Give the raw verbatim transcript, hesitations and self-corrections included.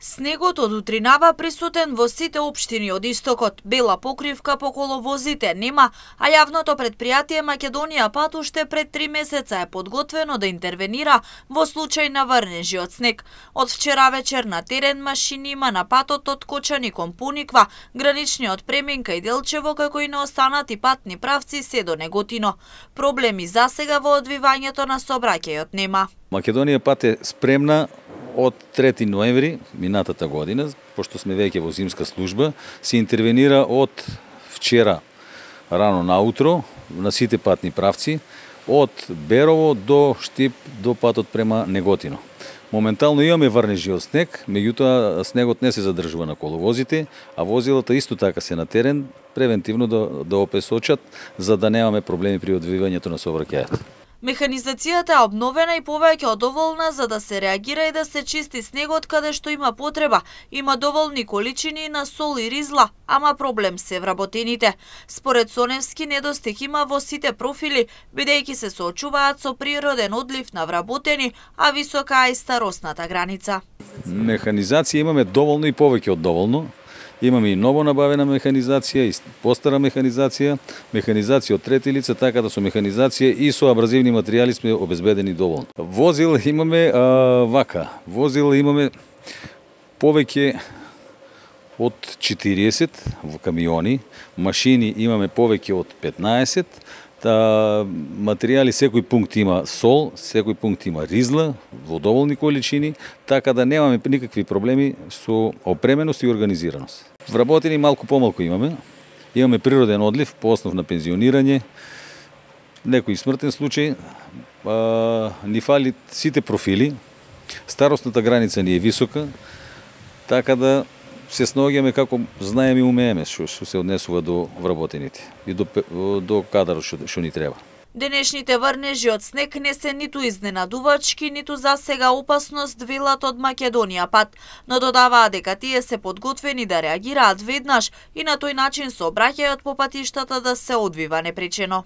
Снегот од утринава присутен во сите општини од истокот. Бела покривка по коловозите нема, а јавното предпријатие Македонија пат уште пред три месеца е подготвено да интервенира во случај на врнежи од снег. Од вчера вечер на терен машини има на патот од Кочани кон Пуниква, граничниот преминка и Делчево, како и на останати патни правци се до Неготино. Проблеми засега во одвивањето на сообраќајот нема. Македонија пат е спремна од трети ноември минатата година, пошто сме веќе во зимска служба, се интервенира од вчера рано наутро на сите патни правци, од Берово до Штип до патот према Неготино. Моментално имаме врнежи од снег, меѓутоа снегот не се задржува на коловозите, а возилата исто така се на терен превентивно да, да опесочат, за да немаме проблеми при одвивањето на сообраќајот. Механизацијата е обновена и повеќе од доволна за да се реагира и да се чисти снегот каде што има потреба. Има доволни количини на сол и ризла, ама проблем се вработените. Според Соневски, недостиг има во сите профили, бидејќи се соочуваат со природен одлив на вработени, а висока е и старосната граница. Механизација имаме доволно и повеќе од доволно. Имаме и ново набавена механизација и постара механизација, механизација од трети лица, така да со механизација и со абразивни материјали сме обезбедени доволно. Возил имаме а, вака, возил имаме повеќе од четириесет во камиони, машини имаме повеќе од петнаесет, та материјали секој пункт има сол, секој пункт има ризла во доволни количини, така да немаме никакви проблеми со опременост и организираност. Вработени малку помалку имаме. Имаме природен одлив по основ на пензионирање, некој смртен случај, а, ни фали сите профили, старосната граница ни е висока, така да се снаоѓаме како знаеме и умееме што се однесува до вработените и до, до кадарот што, што ни треба. Денешните врнежи од снег не се ниту изненадувачки, ниту за сега опасност, велат од Македонија пат, но додаваа дека тие се подготвени да реагираат веднаш и на тој начин сообраќајот по патиштата да се одвива непречено.